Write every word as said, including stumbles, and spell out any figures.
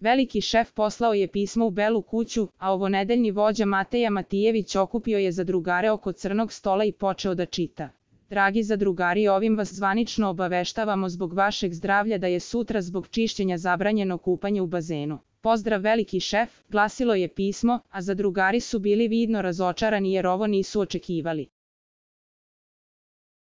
Veliki šef poslao je pismo u Belu kuću, a ovonedeljni vođa Mateja Matijević okupio je zadrugare oko crnog stola i počeo da čita. Dragi zadrugari, ovim vas zvanično obaveštavamo zbog vašeg zdravlja da je sutra zbog čišćenja zabranjeno kupanje u bazenu. Pozdrav veliki šef, glasilo je pismo, a zadrugari su bili vidno razočarani jer ovo nisu očekivali.